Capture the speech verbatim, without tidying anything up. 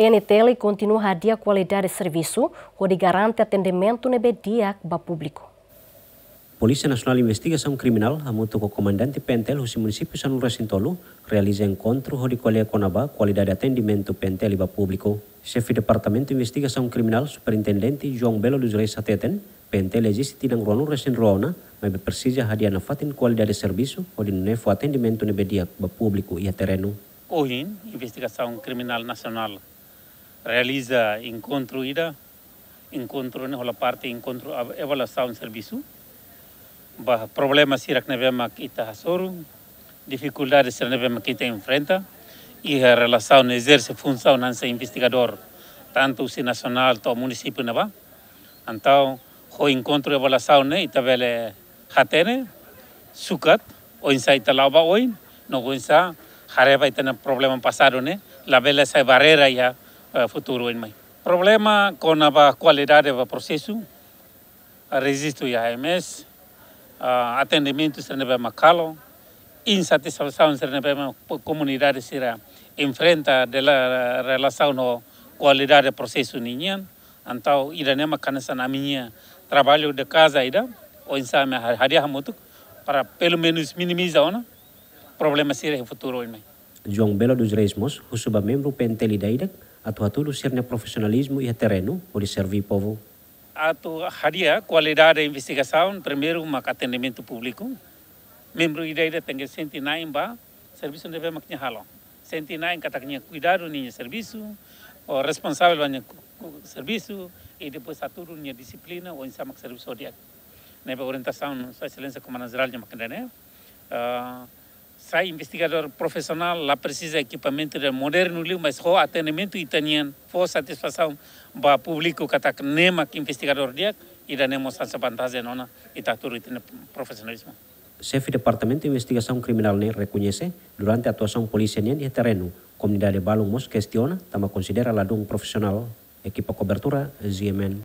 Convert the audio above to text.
P N T L kontinua hadi'a kualidade servisu hodi garante atendimentu ne'ebé di'ak ba públiku. Polísia Nasionál Investigasaun Kriminál hamutuk ho komandante P N T L husi munisípiu sanulu-resin-tolu realiza enkontru hodi ko'alia kona-ba kualidade atendimentu P N T L ba públiku. Xefe Departamentu Investigasaun Kriminál, Superintendente João Belo dos Reis hateten, P N T L eziste tinan ruanulu-resin-rua ona, maibé presiza hadi'a nafatin kualidade servisu hodi nune'e fó atendimentu ne'ebé di'ak ba públiku iha terrenu. Ohin, Investigasaun Kriminál Nasionál realiza enkontru ida, enkontru ne'e hola parte enkontru av-, avaliasaun servisu. Ba problema sira ne'ebé mak ita hasoru, difikuldade sira ne'ebé mak ita enfrenta iha relasaun ezerse funsaun hanesan investigadór, tantu husi nasionál to'o munisípiu ne'ebá. Entaun, ho enkontru avaliasaun ne'e, ita bele hatene, sukat, oinsá ita la'o ba oin, no oinsá haree ba ita-nia problema pasadu ne'e labele sai barreira iha, eh, futuru oin mai. Problema kona-ba kualidade ba prosesu, rejistu iha A M S, ah, atendimentu sira ne'ebé mak halo, insatisfasaun sira ne'ebé mak po-, komunidade sira enfrenta dela relasaun ho kualidade prosesu ninian. Entaun ida-ne'e mak hanesan ami-nia traballu de kaza ida, oinsá ami ha-, hadi'a hamutuk, para pelumenus minimiza ona problema sira iha futuru oin mai. João Belo dos Reis mós husu ba membru P N T L ida-idak atu hatudu sira-nia profisionalizmu iha terrenu hodi serví povu. Atu hadi'a kualidade investigasaun, primeiru mak atendimentu públiku. Membru ida-idak tenke sente na'in ba servisu ne'ebé mak nia halo. Sente na'in katak nia kuidadu ninia servisu, ou responsavel ba nia ku-, ku-, servisu, i depois hatudu nia dixiplina, oinsá mak servisu ho di'ak. Ne'ebé orientasaun Sua Exelénsia Komandante Jerál nia mak ida-ne'e. Ah, sai investigadór profisionál la presiza ekipamentu ida modernu liu, mas ho atendimentu ita-nian fó satisfasaun ba públiku katak ne'e mak investigadór di'ak, ida-ne'e mós hanesan vantajen ona ita hatudu ita-nia profisionalizmu. Xefe Departamentu Investigasaun Kriminál ne'e rekoñese, durante atuasaun polísia nian iha terrenu, komunidade balun mós kestiona, tanba konsidera ladún profisionál. Ekipa kobertura, G M N,